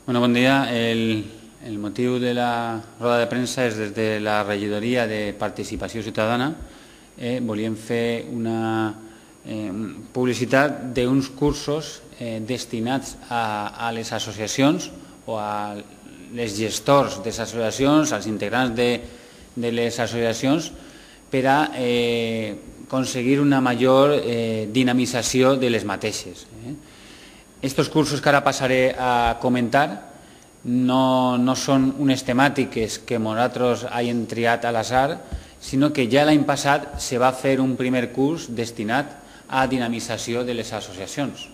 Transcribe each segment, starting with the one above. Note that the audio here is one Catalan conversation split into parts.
Bueno, bon dia. El motiu de la roda de premsa és des de la regidoria de Participació Ciutadana. Volíem fer una publicitat d'uns cursos destinats a les associacions o a les gestors de les associacions, als integrants de les associacions, per a aconseguir una major dinamització de les mateixes. Estos cursos que ara passaré a comentar no són unes temàtiques que nosaltres hàgim triat a l'azar, sinó que ja l'any passat se va fer un primer curs destinat a dinamització de les associacions.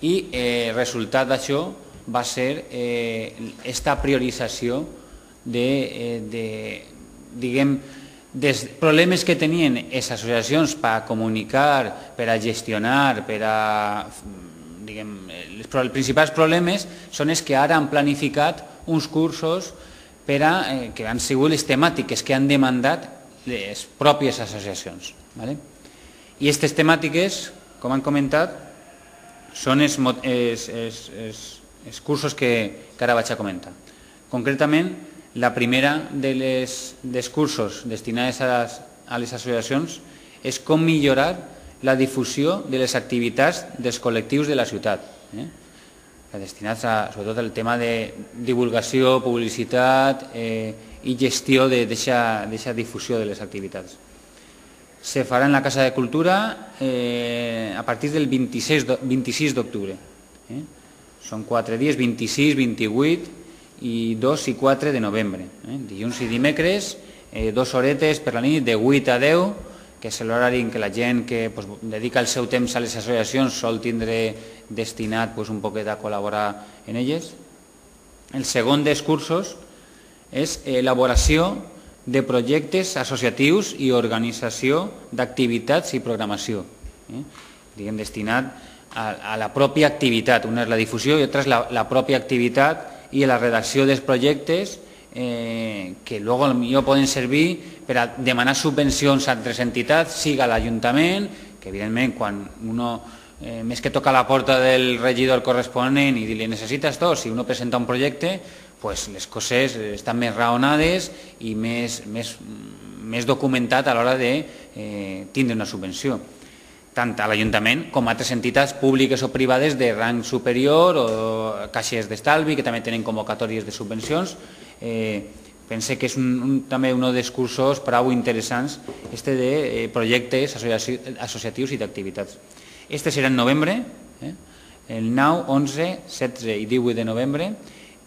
I el resultat d'això va ser aquesta priorització dels problemes que tenien les associacions per comunicar, per a gestionar, per a... Els principals problemes són els que ara han planificat uns cursos que han sigut les temàtiques que han demandat les pròpies associacions. I aquestes temàtiques, com han comentat, són els cursos que ara vaig a comentar. Concretament, la primera dels cursos destinats a les associacions és com millorar la difusió de les activitats dels col·lectius de la ciutat, destinats sobretot al tema de divulgació, publicitat i gestió d'aquesta difusió de les activitats. Se farà en la Casa de Cultura a partir del 26 d'octubre. Són 4 dies, 26, 28 i 2 i 4 de novembre. Dilluns i dimecres, 2 horetes per la nit, de 8 a 10, que és l'horari en què la gent que dedica el seu temps a les associacions sol tindre destinat un poquet a col·laborar en elles. El segon dels cursos és elaboració de projectes associatius i organització d'activitats i programació, destinat a la pròpia activitat. Una és la difusió i l'altra és la pròpia activitat i la redacció dels projectes que luego potser poden servir per a demanar subvencions a altres entitats, siga l'Ajuntament, que evidentment quan uno més que toca la porta del regidor corresponent i dir-li necessites tot, si uno presenta un projecte, les coses estan més raonades i més documentat a l'hora de tindre una subvenció, tant a l'Ajuntament com a altres entitats públiques o privades de rang superior o caixes d'estalvi que també tenen convocatòries de subvencions. Pense que és també un dels cursos prou interessants de projectes associatius i d'activitats. Este serà en novembre, el 9, 11, 16 i 18 de novembre,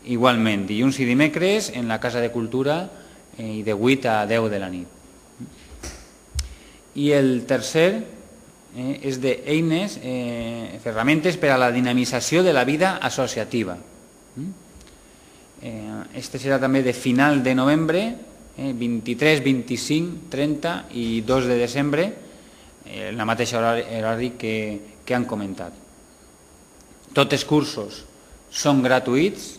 igualment dilluns i dimecres en la Casa de Cultura i de 8 a 10 de la nit. I el tercer és d'eines, ferramentes per a la dinamització de la vida associativa. Este serà també de final de novembre, 23, 25, 30 i 2 de desembre, en la mateixa horari que han comentat. Tots els cursos són gratuïts,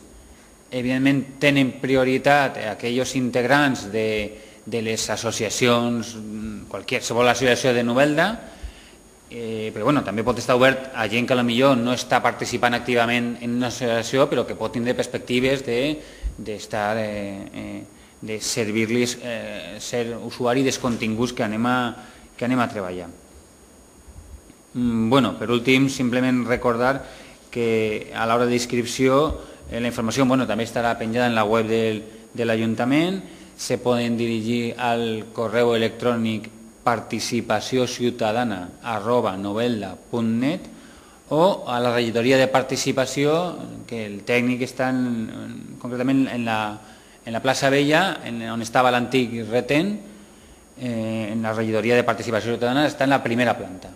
evidentment tenen prioritat aquells integrants de les associacions, qualsevol associació de Novelda, però també pot estar obert a gent que potser no està participant activament en una associació però que pot tindre perspectives de servir-los, ser usuari dels continguts que anem a treballar. Per últim, simplement recordar que a l'hora d'inscripció la informació també estarà penjada en la web de l'Ajuntament, se poden dirigir al correu electrònic participaciociutadana@novelda.net o a la regidoria de participació, que el tècnic està concretament en la plaça Vella, on estava l'antic retén, en la regidoria de participació ciutadana està en la primera planta.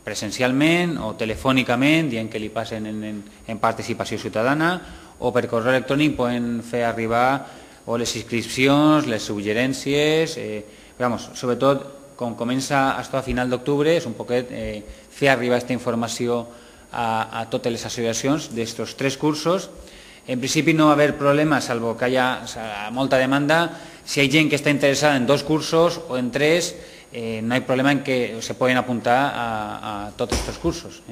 Presencialment o telefònicament, dient que li passen en participació ciutadana, o per correu electrònic poden fer arribar o les inscripcions, les suggerències, sobretot com comença a final d'octubre, és un poquet fer arribar aquesta informació a totes les associacions d'aquests 3 cursos. En principi no va haver problema, salvo que hi ha molta demanda. Si hi ha gent que està interessada en 2 cursos o en 3, no hi ha problema en que se poden apuntar a tots aquests cursos.